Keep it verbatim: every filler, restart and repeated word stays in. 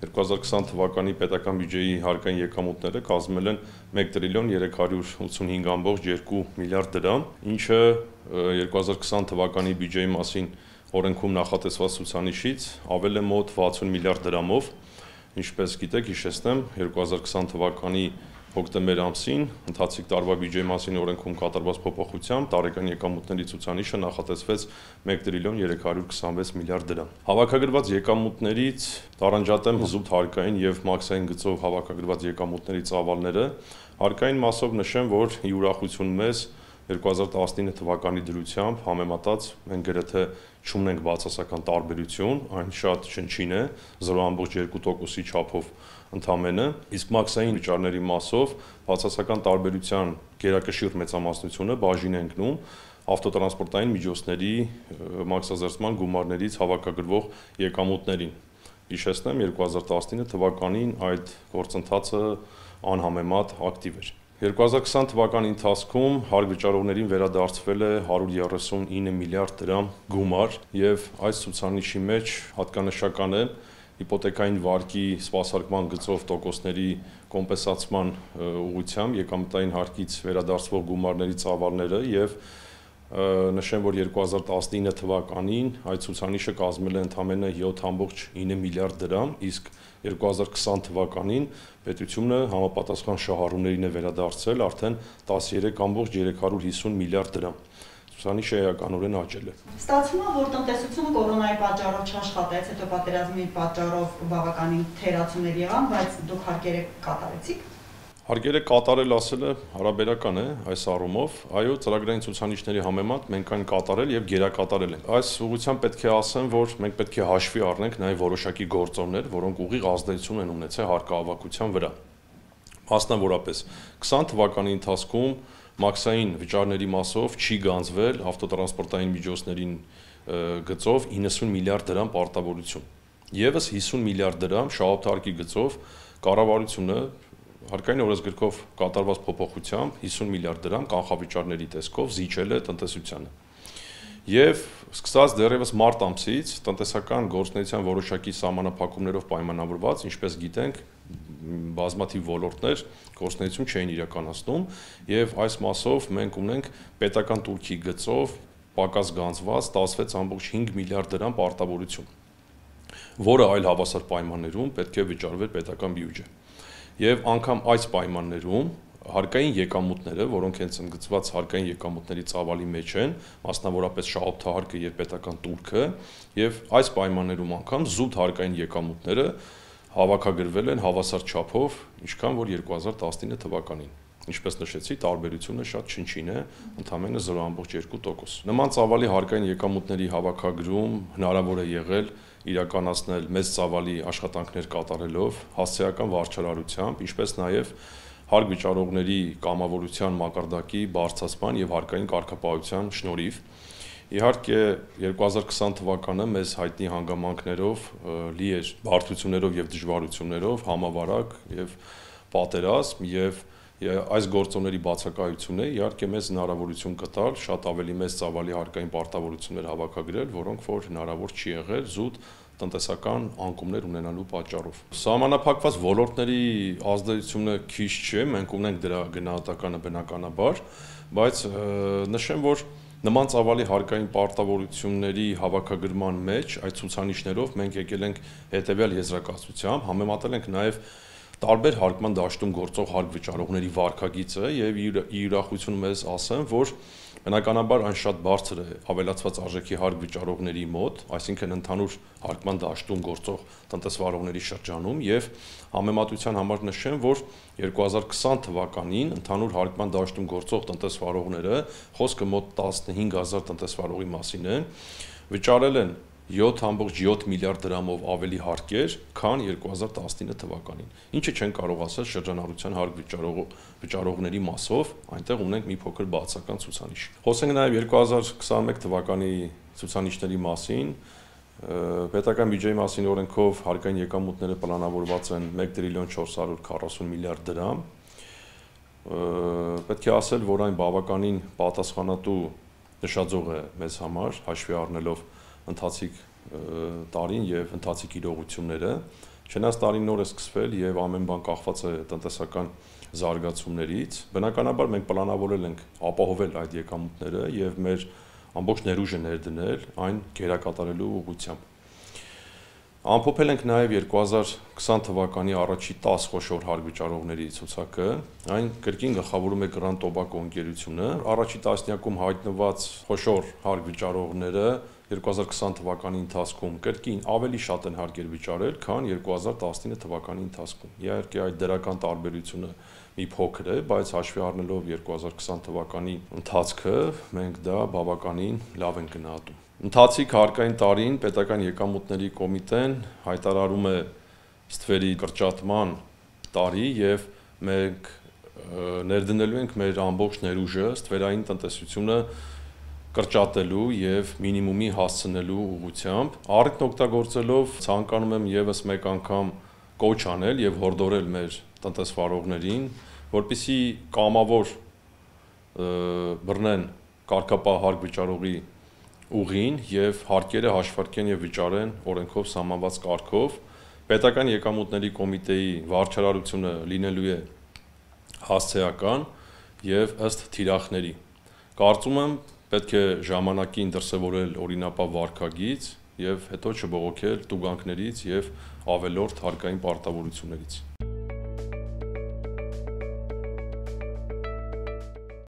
երկու հազար քսան թվականի պետական բյուջեի հարկային եկամուտները կազմել են մեկ տրիլիոն երեք հարյուր ութսունհինգ կոմma երկու միլիարդ դրամ, ինչը երկու հազար քսան թվականի բյուջեի մասին օրենքում նախատեսված ցուցանիշից ավել է մոտ վաթսուն միլիարդ դրամով, ինչպես գիտեք, հիշեցնեմ, երկու հազար քսան թվականի հոկտեմբեր ամսին ընթացիկ տարվա բյուջեի մասին օրենքում կատարված փոփոխությամբ տարեկան եկամուտների ցուցանիշը նախատեսվեց մեկ տրիլիոն երեք հարյուր քսանվեց միլիարդ դրամ։ Հավաքագրված եկամուտներից տարանջատեմ զուտ հարկային եւ մաքսային գծով հավաքագրված եկամուտների ծավալները, հարկային մասով նշեմ, որ ի ուրախություն մեզ երկու հազար տասնինը թվականի դրությամբ համեմատած մենք գրեթե չունենք բացասական տարբերություն, այն շատ շնչին է, զրո կոմma երկու տոկոսի չափով ընդամենը, իսկ մաքսային վճարների մասով բացասական տարբերության գերակշիռ մեծամասնությունը բաժին է ընկնում ավտոտրանսպորտային միջոցների մաքսազերծման գումարներից հավաքագրվող եկամուտներին։ Հիշեցնեմ, երկու հազար տասնինը թվականին այդ գործընթացը անհամեմատ ակտիվ էր։ երկու հազար քսան թվականի ընթացքում հարկ վճարողներին վերադարձվել է հարյուր երեսունինը միլիարդ դրամ գումար եւ այս ցուցանիշի մեջ հատկանշական է հիպոթեկային վարկի սպասարկման գծով տոկոսների կոմպենսացման ուղղությամբ եկամտային հարկից վերադարձվող գումարների ծավալները եւ նշեմ, որ երկու հազար տասնինը թվականին այդ ցուցանիշը կազմել է ընդամենը յոթ կոմma ինը միլիարդ դրամ, իսկ երկու հազար քսան թվականին պետությունը համապատասխան շահառուներին է վերադարձել արդեն տասներեք կոմma երեք հարյուր հիսուն միլիարդ դրամ։ Ցուցանիշը էականորեն աճել է։ Ստացվում է, որ տնտեսությունը կորոնայի պատճառով չաշխատեց, հետո պատերազմի պատճառով բավականին թերացումներ եղան, բայց դուք հարկերը կատարեցիք։ Հարկերը կատարել ասելը հարաբերական է այս առումով, այո, ծրագրային ցուցանիշների համեմատ մենք այն կատարել եւ գերակատարել ենք։ Այս ուղղությամբ պետք է ասեմ, որ մենք պետք է հաշվի առնենք նաեւ որոշակի գործոններ, որոնք ուղիղ ազդեցություն են ունեցել հարկահավաքության վրա։ Մասնավորապես քսան թվականի ընթացքում մաքսային վճարների մասով չի գանձվել ավտոտրանսպորտային միջոցներին գծով իննսուն միլիարդ դրամ պարտավորություն։ Եվս հիսուն միլիարդ դրամ շահութարկի գծով կառավարությունը հարկային օրենսգրքով կատարված փոփոխությամբ հիսուն միլիարդ դրամ կանխավճարների տեսքով զիջել է տնտեսությանը։ Եվ սկսած դեռևս մարտ ամսից տնտեսական գործունեության որոշակի սահմանափակումներով պայմանավորված, ինչպես գիտենք, բազմաթիվ ոլորտներ գործունեություն չէին իրականացնում, եւ այս մասով մենք ունենք պետական տուրքի գծով պակաս գանձված տասնվեց կոմma հինգ միլիարդ դրամ պարտավորություն, որը այլ հավասար պայմաններում պետք է վճարվեր պետական բյուջե։ Եվ անգամ այս պայմաններում հարկային եկամուտները, որոնք հենց ընդգծված հարկային եկամուտների ծավալի մեջ են, մասնավորապես շահութահարկը եւ պետական տուրքը, եւ այս պայմաններում անգամ զուտ հարկային եկամուտները հավաքագրվել են հավասար չափով, ինչքան որ երկու հազար տասնինը թվականին։ Ինչպես նշեցի, տարբերությունը շատ չնչին է, ընդամենը զրո կոմma երկու տոկոս։ Նման ծավալի հարկային եկամուտների հավաքագրում հնարավոր է եղել իրականացնել մեծ ծավալի աշխատանքներ կատարելով, հասցեական վարչարարությամբ, ինչպես նաև հարկ վճարողների կամավորության մակարդակի բարձրացման եւ հարկային կարգապահության շնորհիվ։ Իհարկե երկու հազար քսան թվականը մեզ հայտնի հանգամանքներով լի էր բարդություններով եւ դժվարություններով, համավարակ եւ պատերազմ եւ այս գործոնների բացակայությունը իհարկե մեզ հնարավորություն կտալ շատ ավելի մեծ ծավալի հարկային պարտավորություններ հավաքագրել, որոնք որ հնարավոր չի եղել զուտ տնտեսական անկումներ ունենալու պատճառով։ Սահմանափակված ոլորտների ազդեցությունը քիչ չէ, մենք ունենք դրա գնահատականը բնականաբար, բայց նշեմ, որ նման ծավալի հարկային պարտավորությունների հավաքագրման մեջ այդ ցուցանիշներով մենք եկել ենք հետեւյալ եզրակացությամբ, համեմատել ենք նաեւ տարբեր հարկման դաշտում գործող հարկ վճարողների վարկագիծը եւ ի ուրախություն մեզ ասեմ, որ բնականաբար այն շատ բարձր է ավելացված արժեքի հարկ վճարողների մոտ, այսինքն ընդհանուր հարկման դաշտում գործող տնտեսվարողների շրջանում եւ համեմատության համար նշեմ, որ երկու հազար քսան թվականին ընդհանուր հարկման դաշտում գործող տնտեսվարողները, խոսքը մոտ տասնհինգ հազար տնտեսվարողի մասին է, վճարել են յոթ կոմma յոթ միլիարդ դրամով ավելի հարկեր, քան երկու հազար տասնինը թվականին։ Ինչը չեն կարող ասել շրջանառության հարկ վճարողների մասով, այնտեղ ունենք մի փոքր բացական ցուցանիշ։ Խոսենք նաև երկու հազար քսաներեք թվականի ցուցանիշների մասին, պետական բյուջեի մասին օրենքով հարկային եկամուտները պլանավորված են մեկ տրիլիոն չորս հարյուր քառասուն միլիարդ դրամ։ Պետք է ասել, որ այն բավականին պատասխանատու նշաձող է մեզ համար, հաշվի առնելով ընթացիկ տարին եւ ընթացիկ իրողությունները, Չնայած տարին նոր է սկսվել եւ ամեն բան կախված է տնտեսական զարգացումներից, բնականաբար մենք պլանավորել ենք ապահովել այդ եկամուտները եւ մեր ամբողջ ներուժը ներդնել այն գերակատարելու ուղղությամբ։ Ամփոփել ենք նաեւ երկու հազար քսան թվականի առաջի տասը խոշոր հարկ վճարողների ցուցակը, այն կրկին գլխավորում է Grand Tobacco ընկերությունը, առաջի տասնյակում հայտնված խոշոր հարկ վճարողները երկու հազար քսան թվականի ընթացքում կրկին ավելի շատ են հարկեր վճարել, քան երկու հազար տասնինը թվականի ընթացքում։ Իհարկե այդ դրական տարբերությունը մի փոքր է, բայց հաշվի առնելով երկու հազար քսան թվականի ընթացքը, մենք դա բավականին լավ ենք գնահատում։ Ընթացիկ հարկային տարին պետական եկամուտների կոմիտեն հայտարարում է ստվերի կրճատման տարի եւ մենք ներդնելու ենք մեր ամբողջ ներուժը ստվերային տնտեսությունը կրճատելու եւ մինիմումի հասցնելու ուղղությամբ։ Առիթն օգտագործելով ցանկանում եմ եւս մեկ անգամ կոչ անել եւ հորդորել մեր տնտեսվարողներին, որպեսզի կամավոր բռնեն կարգապահ հարկ վճարողի ուղին եւ հարկերը հաշվարկեն եւ վճարեն օրենքով սահմանված կարգով։ Պետական եկամուտների կոմիտեի վարչարարությունը լինելու է հասցեական եւ ըստ թիրախների։ Կարծում եմ պետք է ժամանակին դրսևորել օրինապատիվ վարքագիծ եւ հետո չբողոքել տուգանքներից եւ ավելորդ հարկային պարտավորություններից։